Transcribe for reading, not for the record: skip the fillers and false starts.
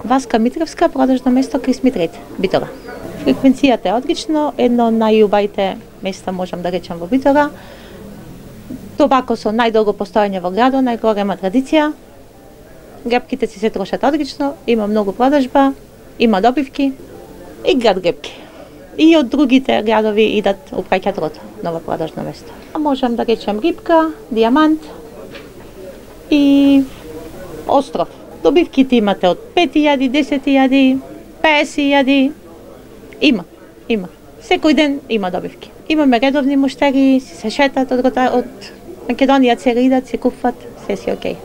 Васка Митревска, продажно место Крис Митрет, Битола. Фреквенцијата е одлично, едно од најубавите места можам да речам во Битола. Тобако со најдолго постојање во градот, најголема традиција. Гребките си се трошат одлично, има многу продажба, има добивки и град гребки. И од другите градови идат упраќаат рото на ова продажно место. Можам да речем Рипка, Дијамант и Остров. Добивките имате од 5.000, 10.000, 50.000. Има. Секој ден има добивки. Имаме редовни муштери, се шетат од Македонија, цели идат, се купуват, се си окей.